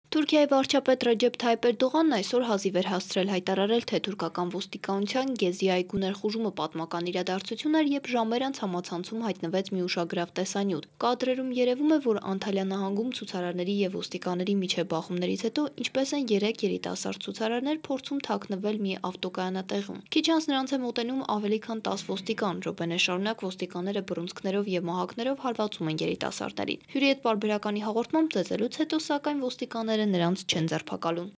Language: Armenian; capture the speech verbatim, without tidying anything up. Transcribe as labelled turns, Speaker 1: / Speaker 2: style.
Speaker 1: Թուրքիայի վարչապետ Ռեջեփ Թայիփ Էրդողանն այսօր հազիվ էր հասցրել հայտարարել, թե թուրքական ոստիկանության Գեզի այգու ներխուժումը պատմական իրադարձություն էր, երբ ժամեր անց համացանցում հայտնվեց մի ուշագրավ տեսանյութ։ Կադրերում երևում է, որ Անտալիա նահանգում ցուցարարների եւ ոստիկանների միջև բախումներից հետո ինչպես են երեք երիտասարդ ցուցարարներ փորձում թաքնվել մի ավտոկայանատեղում։ Քիչ անց նրանց է մոտենում ավելի քան տասը ոստիկան, րոպեներ շարունակ ոստիկանները բռունցքներով եւ մահակներով հարվածում են երիտասարդներին։ Հյուրի հետ պարբերականի հաղորդմամբ ծեծելուց հետո, սակայն ոստիկանները նրանց չեն ձերբակալում։